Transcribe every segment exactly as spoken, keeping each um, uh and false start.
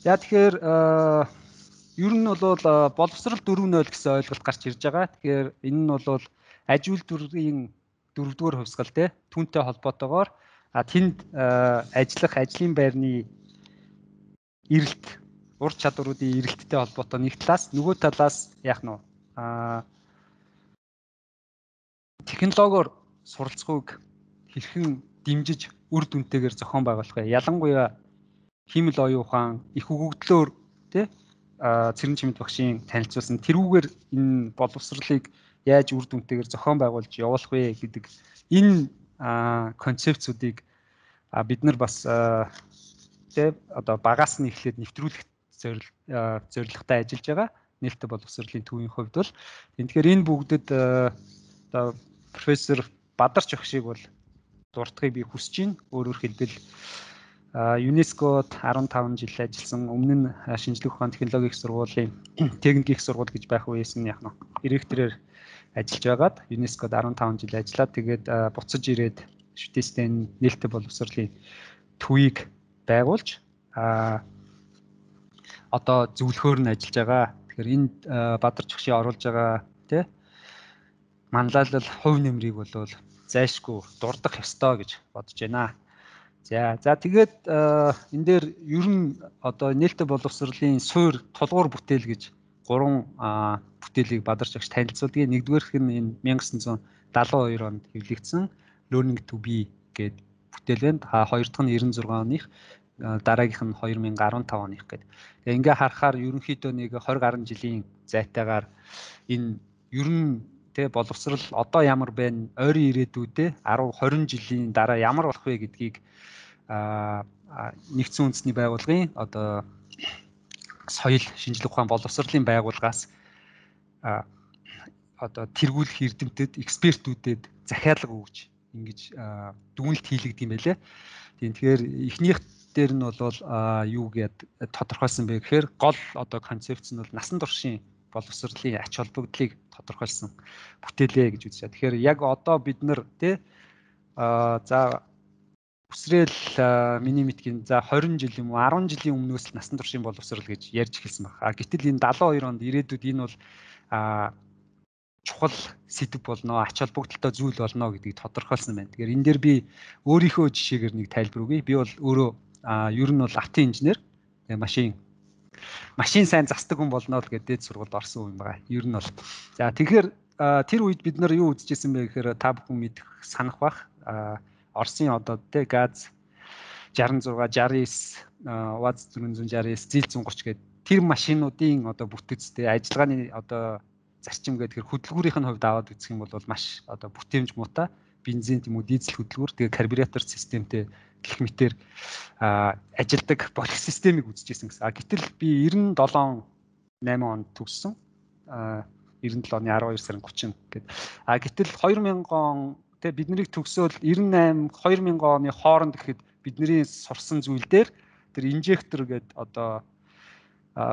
За тэгэхээр ер нь бол боловсрал дөрөв нуль гэсэн ойлголт гарч ирж байгаа. Тэгэхээр энэ нь бол аж үйлдвэрийн дөрөвдүгээр хувьсгал те түүнтэй холбоотойгоор тэнд ажиллах ажлын байрны эрэлт, ур чадваруудын эрэлттэй холбоотой нэг талаас, нөгөө талаас яах нь вэ? Технологиор суралцахыг хэрхэн дэмжиж үр дүнтэйгээр зохион байгуулах вэ? Ялангуяа хиймэл оюун ухаан, их өгөгдлөөр тий Цэрэн Чимэд багшийн танилцуулсан тэрүүгээр энэ боловсролыг яаж үр дүнтэйгээр зохион байгуулж явуулах вэ гэдэг энэ концепцүүдийг бид нар бас тий одоо багаас нь эхлээд нэвтрүүлэх зорилготой ажиллаж байгаа. Нээлттэй боловсролын төвийн хувьд бол тэгэхээр энэ бүгдэд одоо профессор Бадарч багшийг бол дуртахыг би хүсэж байна. Өөрөөр хэлбэл ЮНЕСКОд арван таван жил ажилласан, өмнө нь шинжлэх ухааны технологийн их сургуулийн техник их сургууль гэж байх үеэс нь яг нь директорээр ажиллаж байгаад ЮНЕСКОд арван таван жил ажиллаад тэгээд буцаж ирээд шүтээстэй нээлттэй боловсролын төвийг байгуулж а одоо зөвлөхөөр нь ажиллаж байгаа. Тэгэхээр энд Бадарч багшийн оруулж байгаа тий манлайлал хувь нэмрийг бол зайшгүй дурдах ёстой гэж бодож байна. За за тэгээд энэ дээр ер нь одоо нээлттэй боловсролын суур тулгуур бүтээл гэж гурван бүтээлийг Бадарч багш танилцуулдаг. Нэгдүгээрх нь энэ мянга девять жүз даалгавар хоёр онд хэвлэгдсэн Learning to be гэдэг бүтээл байна. Хоёр дахь нь девяносто зургаан оных, дараагийнх нь две тысячи петнадцать оных гэдэг. Тэгээ ингээ харахаар ерөнхийдөө нэг twenty гаруй жилийн зайтайгаар энэ ер нь тэ боловсрал одоо ямар байна, ойрын ирээдүйдээ ten twenty жилийн дараа ямар болох вэ гэдгийг нэгдсэн үндэсний байгууллагын одоо соёл шинжлэх ухаан боловсролын байгууллагаас одоо тэргүүлэх эрдэмтэд, экспертүүдэд захиалга өгж ингэж дүгнэлт хийлэгдэв юм байлээ. Тэгэхээр эхнийх дээр нь бол юу гэдэг тодорхойлсон бэ гэхээр гол одоо концепц нь бол насан туршийн боловсролын ач холбогдлыг тодорхойлсон бүтээлээ гэж үзэж байна. Тэгэхээр яг одоо бид нар тий за үсрээл миний мэдхийн за twenty жил юм уу ten жилийн өмнөөс л насан туршийн боловсрол гэж ярьж эхэлсэн байна. Гэтэл энэ seventy-two онд ирээдүйд энэ бол чухал сэдв болно, ач холбогдолтой зүйл болно гэдгийг тодорхойлсон байна. Тэгэхээр энэ дээр би өөрийнхөө жишээгээр нэг тайлбар өгье. Би бол өөрөө ер нь бол автын инженер, машин машин сайн засдаг хүн болно л гэдэг сургуульд орсон юм байна. Ер нь бол. За тэгэхээр тэр үед бид нар юу үзчихсэн бэ гэхээр та бүхэн мэдэх санах бах. Орсын одоо тэ газ sixty-six, sixty-nine, УАЗ four sixty-nine, ЗИЛ one thirty гэдэг тэр машинуудын одоо бүтэцтэй ажиллагааны одоо зарчим гэдэг хөдөлгүүрийн хувьд аваад үзэх юм бол маш одоо бүтээмж муутай бензин тийм үү дизель хөдөлгүүр тэгээ карбюратор системтэй гэх мэтэр ажилдаг болох системийг үзчихсэн гэсэн. Гэтэл би ninety-seven eight онд төгссөн. ninety-seven оны twelve сарын thirty гэдэг. А гэтэл two thousand он тэ биднийг төгсөөл ninety-eight two thousand оны хооронд гэхэд бидний сурсан зүйл дээр тэр инжектор гэдэг одоо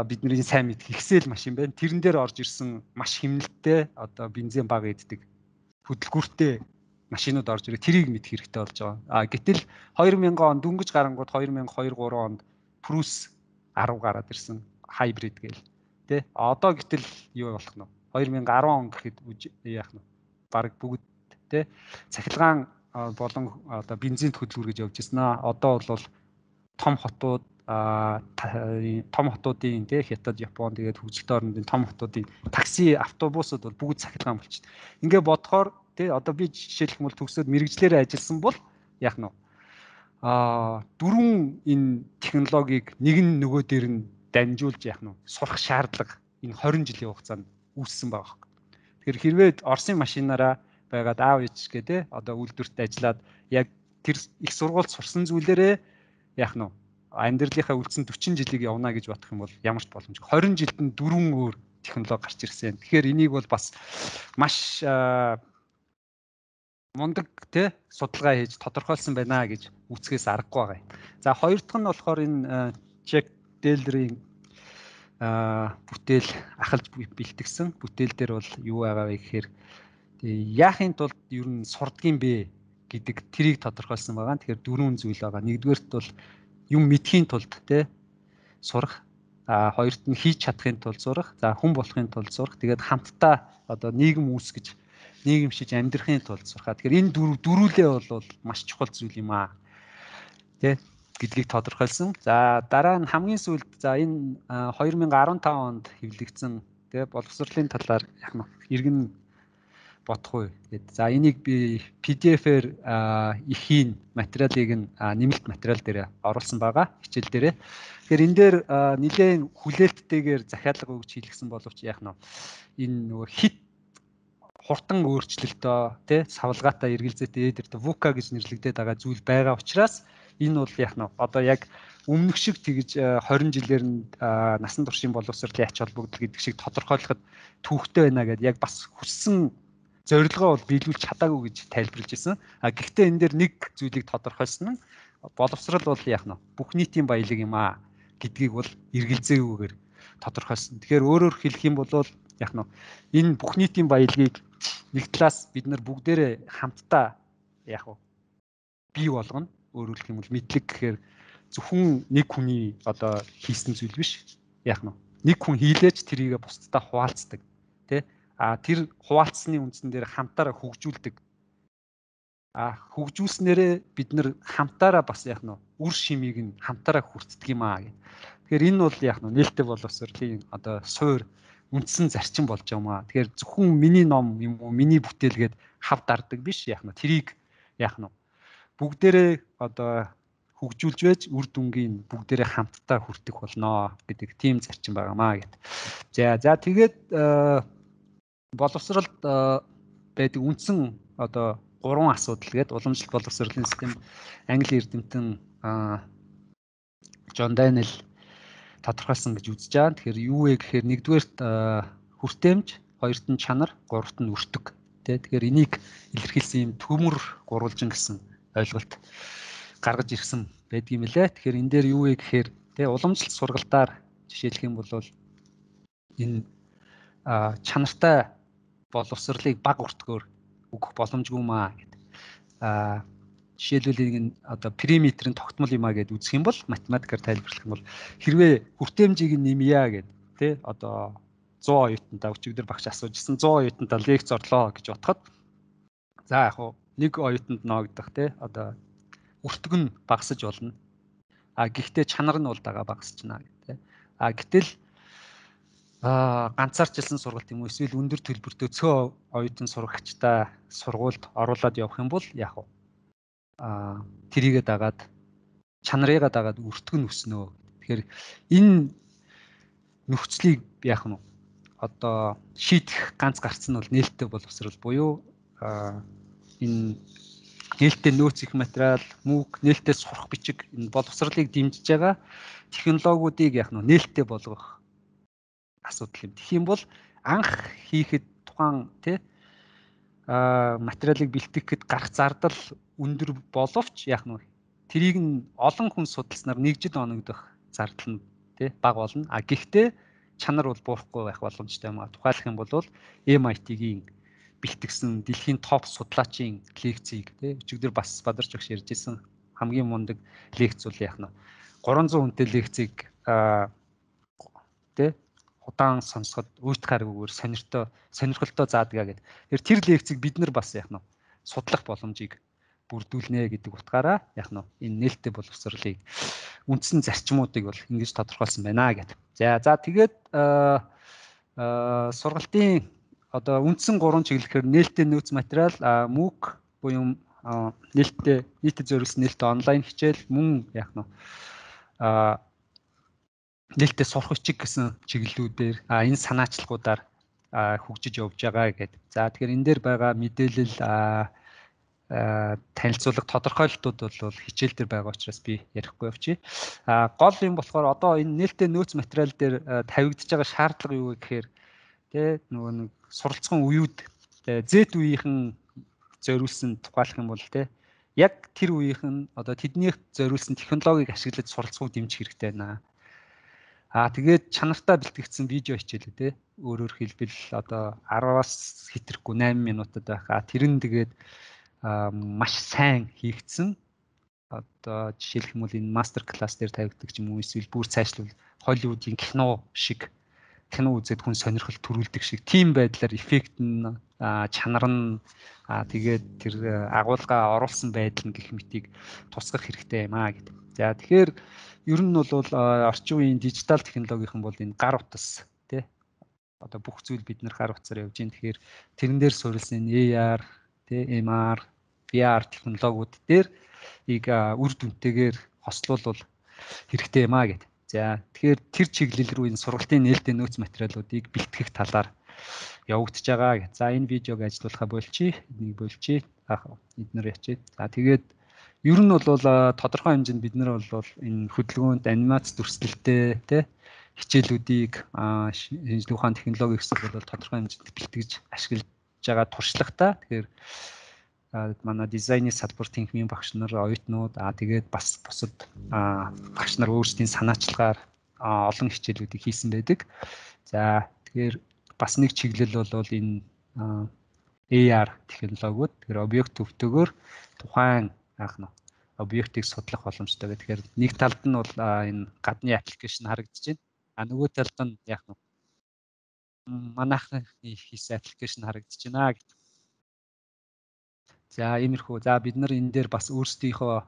бидний сайн мэдх ихсэл машин байна. Тэрэн дээр орж ирсэн маш хэмнэлттэй одоо бензин бага иддэг хөдөлгүүртэй машинууд орж ирээ. Тэрийг мэдэх хэрэгтэй болж байгаа. А гэтэл two thousand он дөнгөж гарангууд two thousand two three онд Prius ten гараад ирсэн хайбрид гээл. Тэ одоо гэтэл юу болох нь вэ? two thousand ten он гэхэд яах нь вэ? Бараг бүгд тэ цахилгаан болон одоо бензин хөдөлгүүр гэж явж ирсэн аа. Одоо бол том хотууд том хотуудын тэ Хятад, Япон тэгээд хөгжилтэй орнуудын том хотуудын такси, автобусууд бол бүгд цахилгаан болчихсон. Ингээ бодохоор тэ одоо би жишээлх юм бол төгсөөд мэрэгчлэрээ ажилласан бол яах нь вэ? Аа дөрвөн энэ технологиг нэг нь нөгөө дээр нь дамжуулж яах нь вэ? Сурах шаардлага энэ twenty жилийн хугацаанд үүссэн байгаа. Тэгэхээр хэрвээ Оросын машинаараа байгаад аав ээж гэдэг одоо үйлдвэрт ажиллаад яг тэр их сургуульд сурсан зүйлээрээ яах нь вэ? Амьдралынхаа үлдсэн forty жилийг явна гэж бодох юм бол ямар ч боломжгүй. twenty жилд нь дөрвөн өөр технологи гарч ирсэн. Тэгэхээр энийг бол бас маш мундаг тий судалгаа хийж тодорхойлсон байна гэж үцгээс аргагүй байгаа юм. За хоёр дахь нь болохоор энэ Jack Taylor-ийн бүтээл ахалж бэлтгэсэн бүтээл дээр бол юу байгаа вэ гэхээр яахын тулд ер нь сурдгийн бэ гэдэг тэрийг тодорхойлсон байгаа. Тэгэхээр дөрвөн зүйл байгаа. Нэгдүгээрт бол юм мэдхийн тулд те сурах, а хоёрт нь хийж чадахын тулд сурах, за хүн болохын тулд сурах, тэгээд хамтдаа одоо нийгэм үүсгэж нийгэмшиж амьдрахын тулд сурах. Тэгэхээр энэ дөрв дөрүүлээ бол маш чухал зүйл юм аа. Тэ гэдгийг тодорхойлсон. За дараа нь хамгийн сүүлд за энэ хоёр мянган арван тав онд хэвлэгдсэн тэ боловсролын талаар яг нь иргэн бодох уу гэд. За энийг би пи ди эф-ээр ихийн материалыг нь нэмэлт материал дээр оруулсан байгаа хичээл дээрээ. Тэгэхээр энэ дээр нэлээд хүлээлттэйгээр захиалга өгч хийлгсэн боловч яг нь энэ нөгөө хит хурдан өөрчлөлтөө тий савлгаатай эргэлзээтэй эдэрт вука гэж нэрлэгдээд байгаа зүйл байгаа учраас энэ бол яг нь одоо яг өмнөх шиг тэгж хорин жилээр нь насан туршийн боловсролын ач холбогдол гэдэг шиг тодорхойлоход түүхтэй байна гэдээ яг бас хүссэн зорилгоо бол биелүүлж чадаагүй гэж тайлбарлаж ирсэн. А гэхдээ энэ дээр нэг зүйлийг тодорхойлсон нь боловсрол бол яг нь бүх нийтийн баялаг юм аа гэдгийг бол эргэлзээгүйгээр тодорхойлсон. Тэгэхээр өөрөөр хэлэх юм бол яг нь энэ бүх нийтийн баялагийг нэг талаас бид нар бүгдээрээ хамтдаа яг нь бий болгоно. Өөрөөр хэлэх юм бол мэдлэг гэхээр зөвхөн нэг хүний одоо хийсэн зүйл биш. Яг нь нэг хүн хийлээж тэрийг бусдад хуваалцдаг. Тэ а тэр хуваалцсны үндсэн дээр хамтаараа хөгжүүлдэг. А хөгжүүлснээрээ бид нар хамтаараа бас яг нь үр шимийг нь хамтаараа хүртдэг юм аа гэх. Тэгэхээр энэ бол яг нь нээлттэй боловсролын одоо суур үндсэн зарчим болж байгаа юм аа. Тэгэхээр зөвхөн миний ном юм уу, миний бүтээлгээд хав дардаг биш яг нь тэрийг яг нь бүгдээрээ одоо хөгжүүлж байж үр дүнгийн бүгдээрээ хамтдаа хүртэх болно гэдэг тийм зарчим байгаамаа гэд. За за тэгээд боловсролд байдаг үндсэн одоо гурван асуудал гээд уламжлалт боловсролын систем англи эрдэмтэн Джон Даниэл тодорхойлсон гэж үзэж байгаа. Тэгэхээр юу вэ гэхээр нэгдүгээрт хүртээмж, хоёрт нь чанар, гуравт нь өртөг. Тэ тэгэхээр энийг илэрхийлсэн юм төмөр гурвалжин гэсэн ойлголт гаргаж ирсэн байдгийм лээ. Тэгэхээр энэ дээр юу вэ гэхээр тэ уламжлалт сургалтаар жишээлх юм бол энэ чанартай боловсролыг баг өртгөөр өгөх боломжгүй маа гэдэг. Аа жишээлбэл энэ одоо периметрийн тогтмол юмаа гэд үзэх юм бол математикаар тайлбарлах юм бол хэрвээ хүртээмжийг нэмъя гэд тэ одоо зуун оюутантаа өчигдөр багш асуужсэн зуун оюутантаа лекц орлоо гэж бодоход за яг хуу нэг оюутанд ноогдох тэ одоо өртөг нь багасж болно. А гэхдээ чанар нь бол дагаа багасчна гэдэг. А гэтэл а ганцаарчлсан сургалт юм уу эсвэл өндөр төлбөртэй цөө оюутан сурагчтай сургуульд оруулаад явах юм бол яг уу а тэрийгэ дагаад чанарыгаа дагаад өртөг нь өснө. Тэгэхээр энэ нөхцөлийг яах нь одоо шийдэх ганц гарц нь бол нээлттэй боловсрол буюу энэ нээлттэй нөөц их материал, мөг, нээлттэй сурах бичиг энэ боловсролыг дэмжиж байгаа технологиудыг яах нь нээлттэй болгох асуудал юм. Тэгэх юм бол анх хийхэд тухайн тий а материалыг бэлтгэхэд гарах зардал өндөр боловч яах нь тэрийг нь олон хүн судалснаар нэг жил оногдох зардал нь тий бага болно. А гэхдээ чанар бол буурахгүй байх боломжтой юм а. Тухайлах юм бол эм ай ти-гийн бэлтгэсэн дэлхийн топ судлаачийн лекцийг тий өчигдөр бас Бадарч багш ярьж ирсэн хамгийн мундаг лекц бол яах нь гурван зуун хүнтэй лекцийг тий удаан сонсоход үйт гаргүйгээр сонирхтой сонирхолтой заадаг гэдэг. Тэгэхээр тэр лекцийг бид нар бас яах нь судлах боломжийг бүрдүүлнэ гэдэг утгаараа яах нь энэ нээлттэй боловсролыг үндсэн зарчмуудыг бол ингэж тодорхойлсон байна гэдэг. За за тэгээд сургалтын одоо үндсэн гурван чиглэлээр нээлттэй нөөц материал, мөг буюу нээлттэй нийтэд зориулсан нээлттэй онлайн хичээл, мөн яах нь нээлттэй сурах бичиг гэсэн чиглэлүүдээр энэ санаачлагуудаар хөгжиж явж байгаа гэдэг. За тэгэхээр энэ дээр байгаа мэдээлэл танилцуулга тодорхойлолтууд бол хичээл дээр байгаа учраас би ярихгүй явчих. А гол юм болохоор одоо энэ нээлттэй нөөц материал дээр тавигдж байгаа шаардлага юу вэ гэхээр тэ нөгөө нэг суралцсан үеуд Z үеийнхэн зориулсан тухайлах юм бол тэ яг тэр үеийнхэн одоо тэднийх зориулсан технологиг ашиглаж суралцахыг дэмжих хэрэгтэй байна. Аа тэгээд чанартай бэлтгэгдсэн видео хичээлээ те өөрөөр хэлбэл одоо араас хэтрэхгүй найман минутад байх. А тэр нь тэгээд маш сайн хийгдсэн одоо жишээлх юм бол энэ мастер класс дээр тавигддаг ч юм уу эсвэл бүр цаашлуул Холливуудын кино шиг кино үзээд хүн сонирхол төрүүлдэг шиг тийм байдлаар эффект нь чанар нь тэгээд тэр агуулга оруулсан байдал нь гэх мэтийг тусгах хэрэгтэй юм аа гэдэг. За тэгэхээр ер нь бол орчин үеийн дижитал технологийн бол энэ гар утас тий одоо бүх зүйл бид нэр гар утсаар явж байна. Тэгэхээр тэрэн дээр суурилсан A R тий M R V R технологиуд дээр ийг үр дүнтэйгээр хослуулвал хэрэгтэй юм аа гэдэг. За тэгэхээр тэр чиглэл рүү энэ сургалтын нээлттэй нөөц материалуудыг бэлтгэх талаар явагдаж байгаа гэж. За энэ видеог ажиллуулахаа болчих. Энийг болчих. Аах эднэр ячээ. За тэгээд ер нь бол тодорхой хэмжээнд бид нар бол энэ хөдөлгөөнд анимац дүрслэлтэй тий хичээлүүдийг шинжлэх ухааны технологи гэсэн бол тодорхой хэмжээнд бэлтгэж ашиглаж байгаа туршлагатай. Тэгэхээр манай дизайны салбар тэнхимийн багш нар, оюутнууд аа тэгээд бас бусад багш нар өөрсдийн санаачлагаар олон хичээлүүдийг хийсэн байдаг. За тэгэхээр бас нэг чиглэл бол энэ A R технологиуд. Тэгэхээр объект өвтөгөөр тухайн яах нь объектыг судлах боломжтой. Тэгэхээр нэг талд нь бол энэ гадны аппликейшн харагдаж байна. А нөгөө талд нь яах нь манайхны хийсэн аппликейшн харагдаж байна гэдэг. За иймэрхүү. За бид нар энэ дээр бас өөрсдийнхөө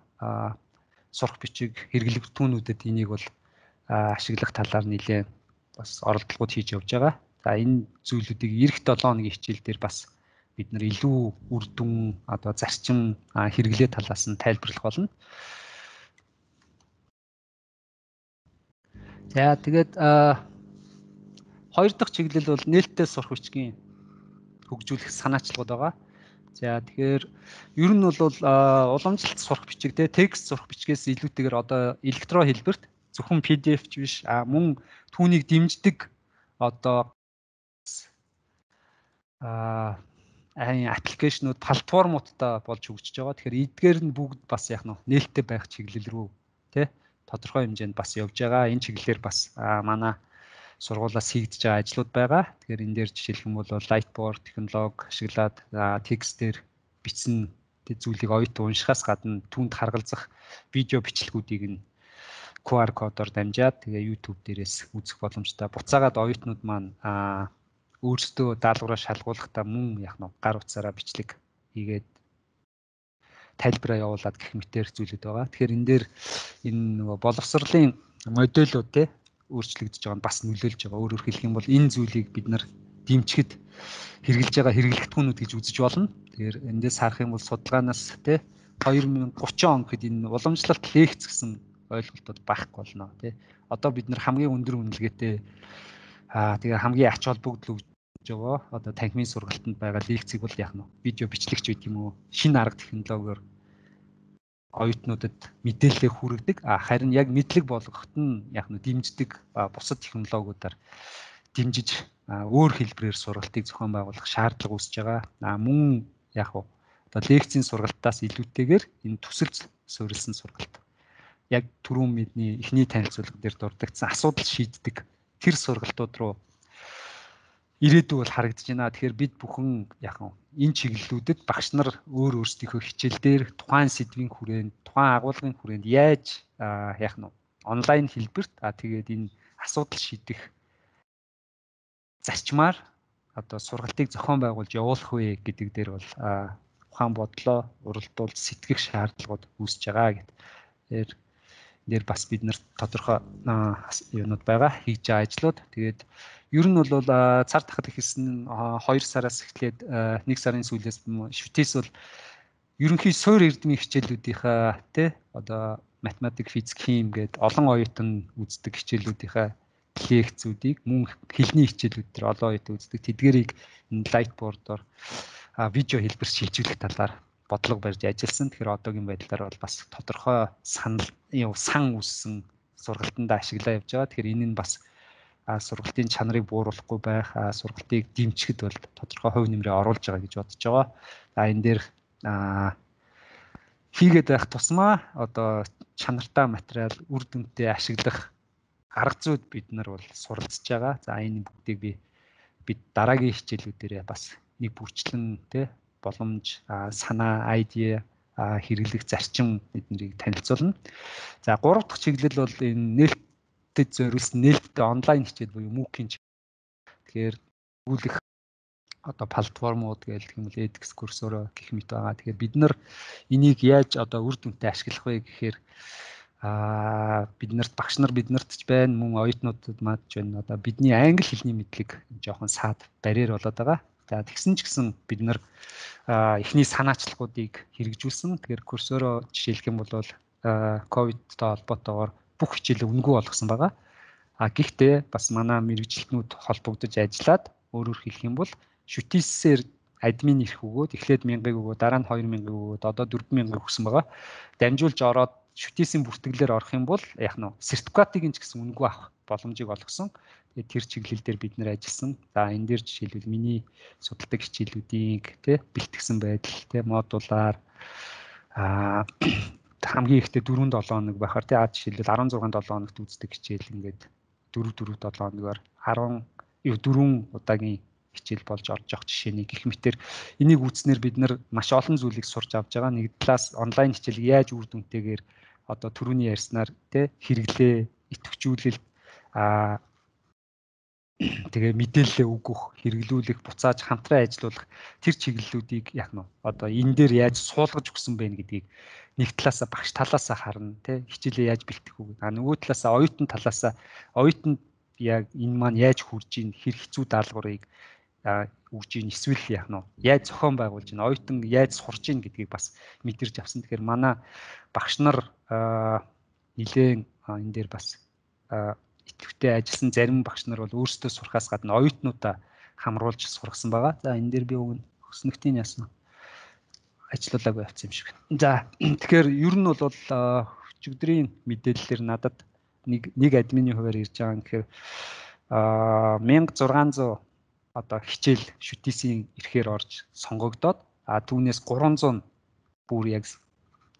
сурах бичиг хэрэглэгдэхүүнүүдэд энийг бол ашиглах талаар нэлээд бас оролдлогууд хийж явж байгаа. За энэ зүйлүүдийг эх долоо хоногийн хичээл дээр бас бид нар илүү үр дүн одоо зарчим хэрэглээ талаас нь тайлбарлах болно. За тэгээд хоёр дахь чиглэл бол нээлттэй сурах бичгийн хөгжүүлэх санаачлагууд байгаа. За тэгэхээр ер нь бол уламжлалт сурах бичиг те текст сурах бичгээс илүүтэйгээр одоо электро хэлбэрт зөвхөн P D F ч биш мөн түүнийг дэмждэг одоо а аппликейшнууд платформуудтай болж хөгжиж байгаа. Тэгэхээр эдгээр нь бүгд бас яг нь нээлттэй байх чиглэл рүү тий тодорхой хэмжээнд бас явж байгаа. Энэ чиглэлээр бас манай сургуулиас хийгдэж байгаа ажлууд байгаа. Тэгэхээр энэ дээр жишээлх юм бол Lightboard технологи ашиглаад текстээр бичсэн зүйлийг оюутан уншихаас гадна түүнд харгалзах видео бичлэгүүдийг нь Q R кодоор дамжаад тэгээ YouTube дээрээс үзэх боломжтой. Буцаагаад оюутнууд маань өөрсдөө даалгавраа шалгуулахдаа мөн яг нь гар утсаараа бичлэг хийгээд тайлбараа явуулаад гэх мэтэр зүйлүүд байгаа. Тэгэхээр энэ дээр энэ нөгөө боловсролын модулууд те өөрчлөгдөж байгаа нь бас нөлөөлж байгаа. Өөрөөр хэлэх юм бол энэ зүйлийг бид нар дэмжихэд хэрэгжилж байгаа хэрэглэгдэхүүнүүд гэж үзэж болно. Тэгэхээр эндээс харах юм бол судалгаанаас те хоёр мянга гурван он гэхэд энэ уламжлалт лекц гэсэн ойлголтууд байхгүй болно тий. Одоо бид нар хамгийн өндөр үнэлгээтэй аа тэгээ хамгийн ач холбогдол өгж байгаа одоо танхимын сургалтанд байгаа лекцийг бол яах нь видео бичлэгч гэдэг юм уу шинэ арга технологиор оюутнуудад мэдээлэл хүргэдэг. А харин яг мэдлэг болгоход нь яах нь дэмждэг бусад технологиудаар дэмжиж өөр хэлбэрээр сургалтыг зохион байгуулах шаардлага үүсэж байгаа. А мөн яах вэ одоо лекцийн сургалтаас илүүтэйгээр энэ төсөлж суурилсан сургалт яг түрүүн мэдний эхний танилцуулга дээр дурддагсан асуудал шийддэг тэр сургалтууд руу ирээдүй бол харагдаж байна. Тэгэхээр бид бүхэн яг энэ чиглэлүүдэд багш нар өөр өөрсдийнхөө хичээл дээр тухайн сэдвийн хүрээнд, тухайн агуулгын хүрээнд яаж яг нь онлайн хэлбэрт а тэгээд энэ асуудал шийдэх зарчмаар одоо сургалтыг зохион байгуулж явуулах вэ гэдэг дээр бол ухаан бодлоо уралдуулж сэтгэх шаардлагууд үүсэж байгаа гэдэг. Тэгэхээр дээр бас бид нар тодорхой юунууд байгаа хийж байгаа ажлууд. Тэгээд ер нь бол цар тахад ихсэн хоёр сараас эхлээд нэг сарын сүүлээс шүтээс бол ерөнхий суур эрдмийн хичээлүүдийнхаа тий одоо математик, физик, хим гээд олон оюутан үздэг хичээлүүдийнхаа лекцүүдийг мөн хэлний хичээлүүд төр олон оюутан үздэг тэдгэрийг лайтбордоор видео хэлбэр шилжүүлэх талаар бодлого барьж ажилласан. Тэгэхээр одоогийн байдлаар бол бас тодорхой санал сан үссэн сургалтанд ашиглаа явж байгаа. Тэгэхээр энэ нь бас сургалтын чанарыг бууруулахгүй байх, сургалтыг дэмжихэд бол тодорхой хувь нэмрээ оруулж байгаа гэж бодож байгаа. За энэ дээр хийгээд байх тусмаа одоо чанартай материал үр дүнтэй ашиглах арга зүйд бид нар бол суралцж байгаа. За энэ бүгдийг би бид дараагийн хичээлүүдээр бас нэг бүрчлэн тий боломж, санаа, айдиа хэрэглэх зарчим эднэрийг танилцуулна. За гурав дахь чиглэл бол энэ нээлттэд зориулсан нээлттэй онлайн хичээл буюу MOOC-ийн чиглэл. Тэгэхээр өгүүлэх одоо платформуд гэдэг юм бол edX курсороо гэх мэт байгаа. Тэгэхээр бид нар энийг яаж одоо үр дүнтэй ашиглах вэ гэхээр аа бид нарт багш нар биднэрт ч байна, мөн оюутнуудад мад ч байна. Одоо бидний англи хэлний мэдлэг жоохон саад барьер болоод байгаа. За тэгсэн ч гэсэн бид нар эхний санаачлалуудыг хэрэгжүүлсэн. Тэгэхээр курсороо жишээлх юм бол ковидтой холбоотойгоор бүх хичээлээ үнэгүй болгосон байгаа. А гэхдээ бас манай мэрэгжилтнүүд холбогдож ажиллаад өөрөөр хэлэх юм бол шүтээсээр админ ирэх өгөөд эхлээд мянгаыг өгөөд дараа нь хоёр мянгаыг өгөөд одоо дөрвөн мянгаыг өгсөн байгаа. Дамжуулж ороод шүтээсийн бүртгэлээр орох юм бол яах нь сертификатыг ч гэсэн үнэгүй авах боломжийг олгосон. Тэгээд тэр чиглэл дээр бид нэр ажилласан. За энэ дээр жишээлбэл миний судалдаг хичээлүүдийг тий бэлтгэсэн байдал тий модулаар аа хамгийн ихдээ дөрвөн долоо хоног байхаар тий а жишээлбэл арван зургаан долоо хоногт үздэг хичээл ингээд дөрөв дөрөв долоо хоногоор арван дөрвөн удаагийн хичээл болж орж явах жишээний гэх мэтэр энийг үүснээр бид нар маш олон зүйлийг сурч авч байгаа. Нэг талаас онлайн хичээл яаж үр дүнтэйгээр одоо түрүүний ярьснаар тий хэрэглээ, идэвхжүүлэлт аа тэгээ мэдээлэлээ өгөх, хэрэглүүлэх, буцааж хамтран ажиллуулах тэр чиглэлүүдийг яах нь одоо энэ дээр яаж суулгаж өгсөн бэ гэдгийг нэг талаасаа багш талаасаа харна тий хичээлээ яаж бэлтэх үү. А нөгөө талаасаа оюутан талаасаа оюутанд яг энэ маань яаж хурж ийн хэр хэцүү даалгаврыг өгж ийн эсвэл яах нь яаж зохион байгуулж ийн оюутан яаж сурч ийн гэдгийг бас мэдэрч авсан. Тэгэхээр манай багш нар нэлээд энэ дээр бас идэвхтэй ажилласан зарим багш нар бол өөрсдөө сурахаас гадна оюутнуудаа хамруулж сургасан байгаа. За энэ дээр би өгнө хөснөгтийн ясна ажиллуулаагүй явцсан юм шиг байна. За тэгэхээр ер нь бол өчигдрийн мэдээллээр надад нэг нэг админы хуваар ирж байгаа юм. Тэгэхээр мянга зургаан зуун одоо хичээл шүтээсийн эрхээр орж сонгогдоод а түүнээс гурван зуун бүр яг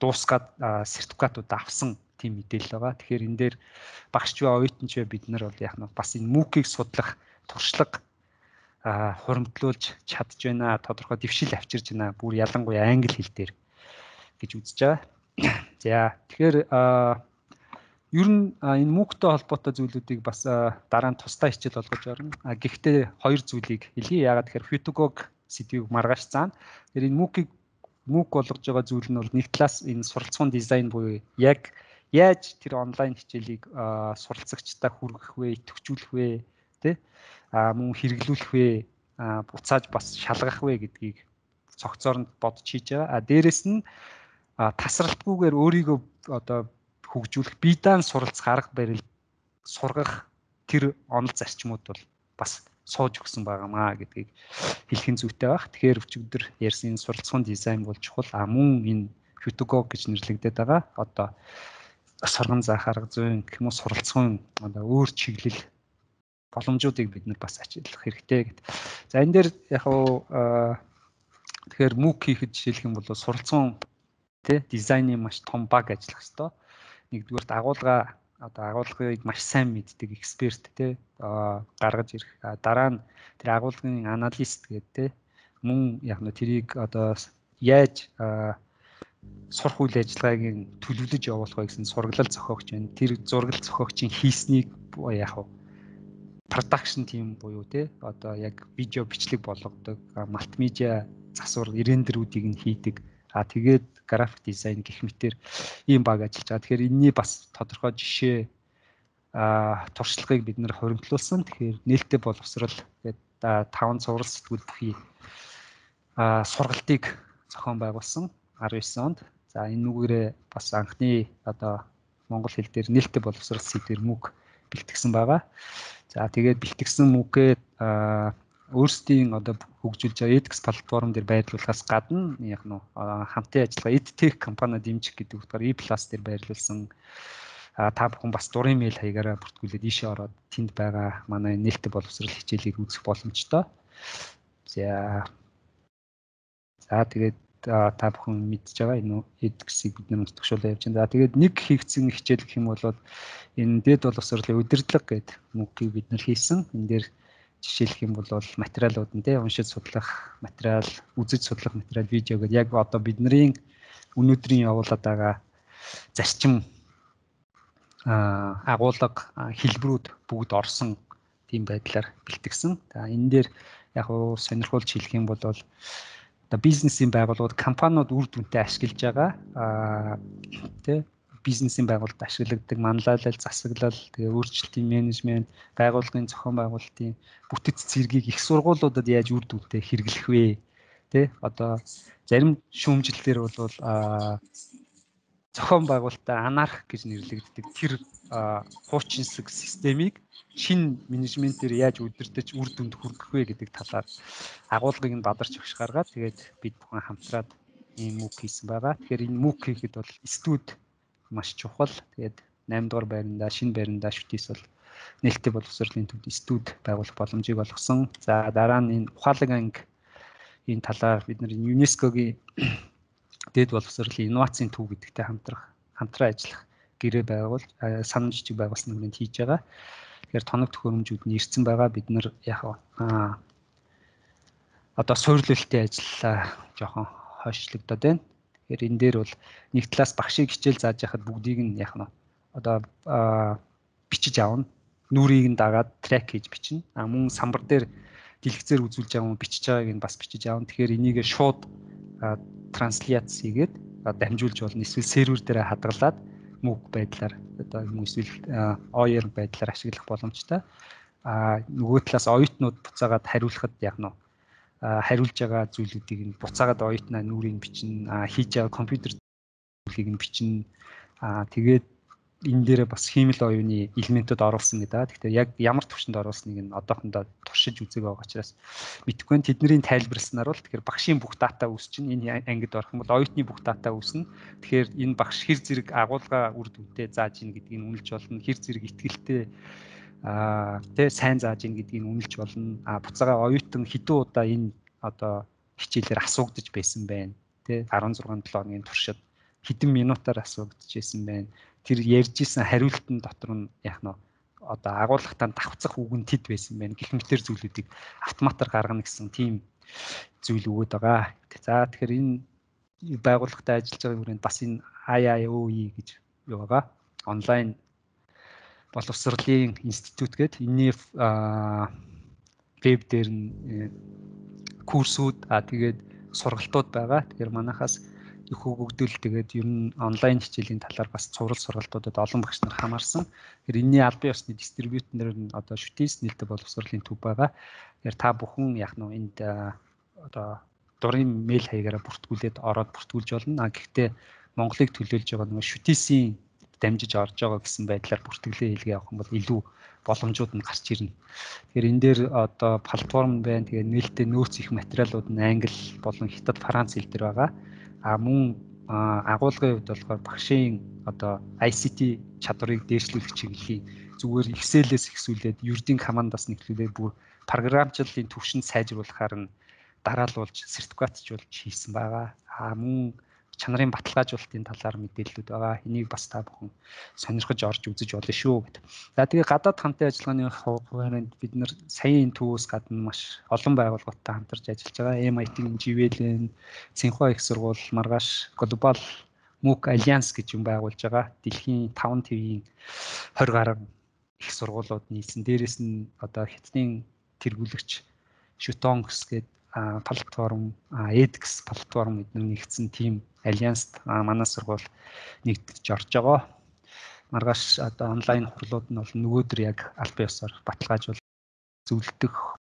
дуусгаад сертификатууд авсан тийм мэдээлэл байгаа. Тэгэхээр энэ дээр багш ба оюутан ч бид нар бол яах нь бас энэ MOOC-ийг судлах туршлага хуримтлуулж чадж байна. Тодорхой дэвшил авчирж байна. Бүр ялангуяа англи хэл дээр гэж үзэж байгаа. За тэгэхээр ер нь энэ MOOC-тэй холбоотой зүйлүүдийг бас дараа нь тусдаа хичээл болгож орно. А гэхдээ хоёр зүйлийг хэлье. Яагаад тэгэхээр Phutugo сэдвийг маргааш цаана. Тэгэхээр энэ MOOC-ийг MOOC болгож байгаа зүйл нь бол нэг талаас энэ суралцсан дизайн буюу яг яаж тэр онлайн хичээлийг суралцагчдаа хүргэх вэ, идэвхжүүлэх вэ, тий? А мөн хэрэглүүлэх вэ, буцааж бас шалгах вэ гэдгийг цогцооронд бодож хийж байгаа. А дээрэс нь тасралтгүйгээр өөрийгөө одоо хөгжүүлэх, бие даан суралцах арга барил сургах тэр онол зарчмууд бол бас сууж өгсөн байгаамаа гэдгийг хэлхэн зүйтэй байх. Тэгэхээр өчигдөр ярьсан энэ суралцсан дизайн бол чухал. А мөн энэ Phutugo гэж нэрлэгдээд байгаа. Одоо сургам заах арга зүйн гэх юм уу суралцсан одоо өөр чиглэл боломжуудыг бид нар бас ашиглах хэрэгтэй гэдэг. За энэ дээр яг уу тэгэхээр MOOC хийхэд жишээлх юм бол суралцсан тий дизайны маш том баг ажиллах хэрэгтэй. Нэгдүгээр агуулга одоо агуулгыг маш сайн мэддэг эксперт тий гаргаж ирэх. Дараа нь тэр агуулгын аналист гэдэг тий мөн яг нь тэрийг одоо яаж сурах үйл ажиллагаагийн төлөвлөж явуулах вэ гэсэн сургалал зохиогч байна. Тэр зургал зохиогчийн хийснийг яг уу production team буюу тий одоо яг видео бичлэг болгодог, мультимедиа засвар рендерүүдийг нь хийдэг. А тэгээд график дизайн гэх мэтэр ийм баг ажиллаж байгаа. Тэгэхээр энэний бас тодорхой жишээ а туршлагыг бид нэр хуримтлуулсан. Тэгэхээр нээлттэй боловсрал гэдэг таван цуврал сэтгүүл бүхий а сургалтыг зохион байгуулсан арван девять онд. За энэ нүгээрээ бас анхны одоо монгол хэл дээр нээлттэй боловсрал сэдвэр MOOC бэлтгэсэн байгаа. За тэгээд бэлтгэсэн MOOC-ээ өөрсдийн одоо хөгжүүлж байгаа edX платформ дээр байрлуулахаас гадна яг нь хамтын ажиллагаа EdTech компани дэмжих гэдэг утгаар E+ дээр байрлуулсан. Та бүхэн бас дурын мэйл хаягаараа бүртгүүлээд ийшээ ороод тэнд байгаа манай нээлттэй боловсрал хичээлийг үзэх боломжтой. За За тэгээд та бүхэн мэдж байгаа энэ edX-ийг бид нэр төгшөөлөө явж байна. За тэгээд нэг хийгдсэн хичээл гэх юм бол энэ дэд боловсролын удирдлага гэдэг MOOC-ийг бид нэр хийсэн. Энэ дээр жишээлх юм бол материалууд нь тий уншиж судлах материал, үзэж судлах материал, видео гэдэг яг одоо бидний өнөөдрийн явуулаад байгаа зарчим агуулга хэлбэрүүд бүгд орсон тийм байдлаар бэлтгэсэн. За энэ дээр яг уу сонирхолж хэлэх юм бол одоо бизнесийн байгууллагууд компаниуд үр дүнтэй ашиглаж байгаа тий бизнесийн байгууллагад ашигладаг манлайлал, засаглал, тэгээ өөрчлөлтийн менежмент, байгууллагын зохион байгуулалтын бүтэц зэргийг их сургуулиудад яаж үр дүнтэй хэрэглэх вэ? Тэ одоо зарим шүүмжлэлээр бол зохион байгуулалтаа анарх гэж нэрлэгддэг тэр хуучинсаг системийг шинэ менежментээр яаж удирдах үр дүнд хүргэх вэ гэдэг талаар агуулгыг нь бадарч өгш гаргаад тэгээд бид бүхэн хамтраад ийм мук хийсэн байгаа. Тэгэхээр энэ мук хийхэд бол студ маш чухал. Тэгээд наймд дугаар байранда шинэ байранда шүтээс бол нээлттэй боловсролын төвд студ байгуулах боломжийг олгосон. За дараа нь энэ ухаалаг анги энэ талаар бид нар ЮНЕСКОгийн дэд боловсролын инновацийн төв гэдэгтэй хамтрах хамтран ажиллах гэрээ байгуул санамж жижиг байгуулсан нэгт хийж байгаа. Тэгэхээр тоног төхөөрөмжүүд нь ирсэн байгаа. Бид нар яг аа одоо суйрлуулалтын ажиллаа жоохон хойшлогдоод байна. Тэгэхээр энэ дээр бол нэг талаас багшийг хичээл зааж яхад бүгдийг нь яг нь одоо бичиж аавна. Нүрийг нь дагаад трек хийж бичнэ. А мөн самбар дээр дэлгэцээр үзүүлж байгаа юм бичиж байгааг нь бас бичиж аавна. Тэгэхээр энийг шууд транслац хийгээд дамжуулж болно. Эсвэл сервер дээр хадгалаад мук байдлаар одоо юм эсвэл о эр байдлаар ашиглах боломжтой. А нөгөө талаас оюутнууд буцаагаад хариулахад яг нь хариулж байгаа зүйлүүдийг нь буцаагаад оюутнаа нүрийг бичнэ, хийж байгаа компьютер зүйлийг нь бичнэ. Аа тэгээд энэ дээрээ бас хиймэл оюуны элементүүд оруулсан гэдэг. Тэгэхээр яг ямар төвшөнд оруулсныг нь одоохондоо туршиж үзэг байгаа учраас мэдэхгүй. Тэдний тайлбарласнаар бол тэгэхээр багшийн бүх дата үүсчин энэ ангид орох юм бол оюутны бүх дата үүснэ. Тэгэхээр энэ багш хэр зэрэг агуулга үр дүнтэй зааж ийн гэдгийг нь үнэлж болно. Хэр зэрэг ихтгэлтэй аа тэ сайн зааж ийн гэдгийг нь үнэлж болно. А буцаага оюутан хэдэн удаа энэ одоо хичээлээр асуугдаж байсан байна. Тэ арван зургаан долоо хоногийн туршид хэдэн минутаар асуугдаж байсан байна. Тэр ярьж исэн хариултын дотор нь яг нь одоо агуулгатаа давхцах үг нь тэд байсан байна. Гэх мэтэр зүйлүүдийг автоматар гаргана гэсэн тийм зүйл өгöd байгаа. За тэгэхээр энэ байгууллагатай ажиллаж байгаа хүрээнд бас энэ ай ай о и гэж юу байгаа. Онлайн боловсролын институт гэдэг энэний веб дээр нь курсүүд а тэгээд сургалтууд байгаа. Тэгэхээр манайхаас их хөгждөл тэгээд ер нь онлайн хичээлийн талаар бас цуврал сургалтуудад олон багш нар хамаарсан. Тэгэхээр энэний албан ёсны дистрибьютор нь одоо шүтээс нээлттэй боловсролын төв байгаа. Тэгэхээр та бүхэн яг нь энд одоо дурын мэйл хаягаараа бүртгүүлээд ороод бүртгүүлж болно. А гэхдээ Монголыг төлөөлж байгаа нөгөө шүтээсийн дамжиж орж байгаа гэсэн байдлаар бүртгэлээ хийлгээ явах юм бол илүү боломжууд нь гарч ирнэ. Тэгэхээр энэ дээр одоо платформ байна. Тэгээд нээлттэй нөөц их материалууд нь англи болон хятад, франц хэл дээр байгаа. А мөн агуулгын хувьд болохоор багшийн одоо ай си ти чадварыг дээшлүүлэх чиглэлийн зүгээр Excel-ээс ихсүүлээд Word-ийн командаас нэхлүүлээд бүр програмчлалын түвшинд сайжруулахаар нь дараалуулж сертификатжуулж хийсэн байгаа. А мөн чанарын баталгаажуулалтын талаар мэдээлэлүүд байгаа. Энийг бас та бүхэн сонирхож орж үзэж болно шүү гэдэг. За тэгээ гадаад хамтын ажиллагааны хуваарьнд бид нар саяын төвөөс гадна маш олон байгууллагуудтай хамтарч ажиллаж байгаа. эм ай ти-ийн жи ви эл-ийн Цинхуа их сургууль, маргааш Global мук Alliance гэж юм байгуулж байгаа. Дэлхийн таван твийн хорь гаруй их сургуулиуд нийлсэн. Дээрээс нь одоо хятадын тэргүүлэгч Шүтонгс гэдэг платформ, эдикс платформ эдгээр нэгдсэн team Alliance манай сургууль нэгдэж орж байгаа. Маргааш одоо онлайн хурлууд нь бол нөгөөдөр яг албан ёсоор баталгаажуул зөвлөдөх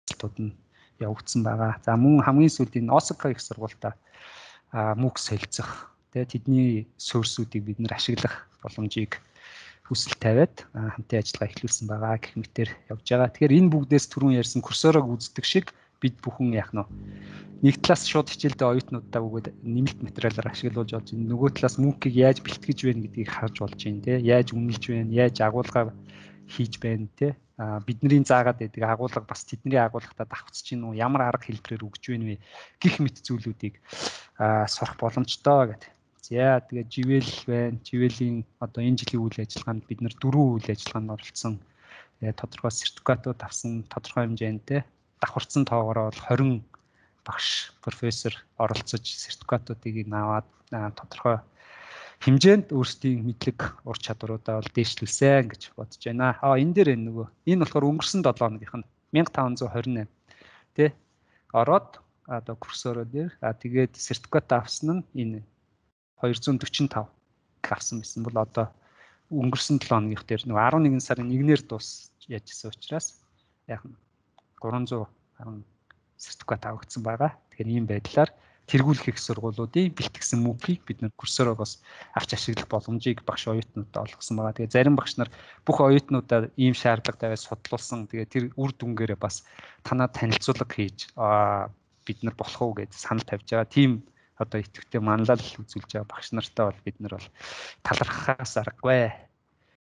хурлууд нь явагдсан байгаа. За мөн хамгийн сүүлийн Осака их сургуультай мук солилцох, тэгээ тэдний суурсуудыг бид нэр ашиглах боломжийг хүсэл тавиад хамтын ажиллагаа эхлүүлсэн байгаа гэх мэтээр явж байгаа. Тэгэхээр энэ бүгдээс түрүүн ярьсан курсорог үздэг шиг бид бүхэн яах нь нэг талаас шууд хичээлдээ оюутнуудаа өгөөд нэмэлт материалаар ашиглуулж болж байна. Нөгөө талаас мукийг яаж бэлтгэж байна гэдгийг харж болж байна те. Яаж үнэлж байна, яаж агуулга хийж байна те. А бидний заагаад байдаг агуулга бас тэдний агуулгатаа давхцаж гин үү, ямар арга хэлбэрээр өгж байна вэ гэх мэт зүйлүүдийг сурах боломжтой гэдэг. За тэгээд жи ви эл байна. жи ви эл-ийн одоо энэ жилийн үйл ажиллагаанд бид нар дөрвөн үйл ажиллагаанд оролцсон. Тэгээд тодорхой сертификатууд авсан, тодорхой хэмжээнд те давхарцсан тоогоороо бол хорин багш, профессор оролцож сертификатуудыг аваад тодорхой хэмжээнд өөрсдийн мэдлэг ур чадваруудаа бол дээшлүүлсэн гэж бодож байна. Аа энэ дээр нөгөө энэ болохоор өнгөрсөн долоо хоногийнх нь мянга таван зуун хорин восемь тий ороод одоо курсороо дээр а тэгээд сертификат авсан нь энэ хоёр зуун дөрвөн тав авсан байсан бол одоо өнгөрсөн долоо хоногийнх дээр нөгөө арван нэгэн сарын нэгнээр дуус яажсэн учраас яг гурван зуун харин сертификат авагдсан байгаа. Тэгэхээр ийм байдлаар тэргүүлэх их сургуулиудын бэлтгэсэн мөнгөийг бид нэр курсороо бас авч ашиглах боломжийг багш оюутнуудад олгосон байгаа. Тэгээ зарим багш нар бүх оюутнуудаа ийм шаардлага тавиад судлуулсан. Тэгээ тэр үр дүнгээрээ бас танаа танилцуулга хийж бид нар болох уу гэж санал тавьж байгаа. Тим одоо идэвхтэй манлал үзүүлж байгаа багш нартай бол бид нар бол талархахаас аргагүй.